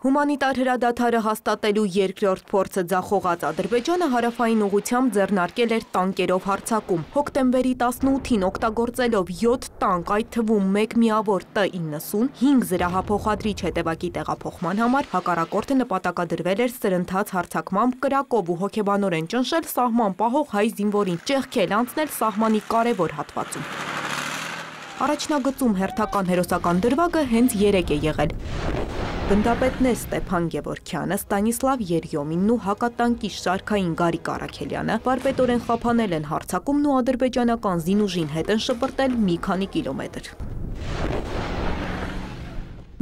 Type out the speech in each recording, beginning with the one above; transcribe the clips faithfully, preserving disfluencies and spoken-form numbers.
Հումանիտար հրադադարը հաստատելու երկրորդ փորձը ձախողած Ադրբեջանը հարավային ուղղությամբ ձեռնարկել էր տանկերով հարձակում։ Հոկտեմբերի տասնութին օգտագործելով յոթ տանկ, այդ թվում մեկ միավոր Տ իննսուն, հինգ զրահափոխադրիչ հետևակի տեղափոխման համար հակառակորդը նպատակադրվել էր սրընթաց հարձակմամբ կրակով ու հոգեբանորեն ճնշել սահման պահող հայ զինվորին, ճեղքել անցնել սահմանի կարևոր հատվածում։ Առաջնագծում հերթական հերոսական դրվագը հենց երեք է եղել։ Գնդապետներ Ստեփան Գևորգյանը, Ստանիսլավ Երյոմինն ու հակատանկի շարքային Գարիկ Առաքելյանը վարպետորեն խափանել են հարձակումն ու ադրբեջանական զինուժին հետ են շպրտել մի քանի կիլոմետր։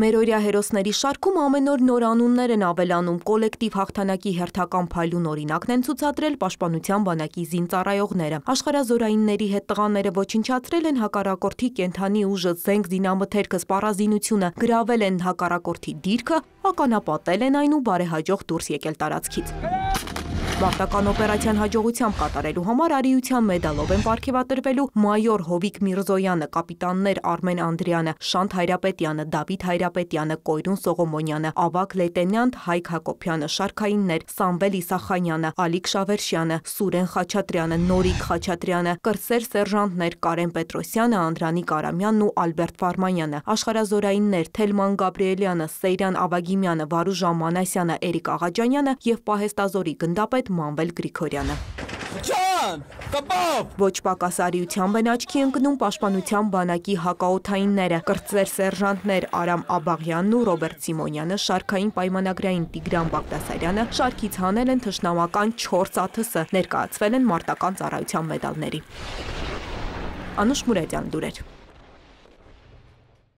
Մերօրյա հերոսների շարքում ամեն օր նոր անուններ են ավելանում, կոլեկտիվ հաղթանակի հերթական փայլուն օրինակն են ցուցադրել Պաշտպանության բանակի զինծառայողները։ Աշխարհազորայինների հետ տղաները ոչնչացրել են հակառակորդի կենդանի ուժը, զենք զինամթերքը, սպառազինությունը, գրավել են հակառակորդի դիրքը, ականապատել են այն ու բարեհաջող դուրս եկել տարածքից։ Մարտական օպերացիան հաջողությամբ կատարելու համար արիության մեդալով են պարգևատրվելու մայոր Հովիկ Միրզոյանը, կապիտաններ Արմեն Անդրյանը, Շանթ Հայրապետյանը, Դավիթ Հայրապետյանը, Կոյրուն Սողոմոնյանը, Ավագ լեյտենանտ Հայկ Հակոբյանը, շարքայիններ Սամվել Իսախանյանը, Ալիկ Շավերշյանը, Սուրեն Խաչատրյանը, Նորիկ Խաչատրյանը, կրսեր սերժանտներ Կարեն Պետրոսյանը, Անդրանիկ Արամյանն ու Ալբերտ Ֆարմանյանը, աշխարհազորայիններ Թելման Գաբրիելյանը, Սեյրան Ավագիմյանը, Վարուժան Մանասյանը, Էրիկ Աղաջանյանը եւ պահեստազորի գնդապետ Մանվել Գրիգորյանը։ Ոչ պակաս արիությամբ են աչքի ընկնում Պաշտպանության բանակի հակաօդայինները, կրտսեր սերժանտներ Արամ Աբաղյանն ու Ռոբերտ Սիմոնյանը, շարքային պայմանագրային Տիգրան Բաղդասարյանը շարքից հանել են թշնամական չորս ա թ ս, ներկայացվել են մարտական ծառայության մեդալների։ Անուշ Մուրադյան, լուրեր։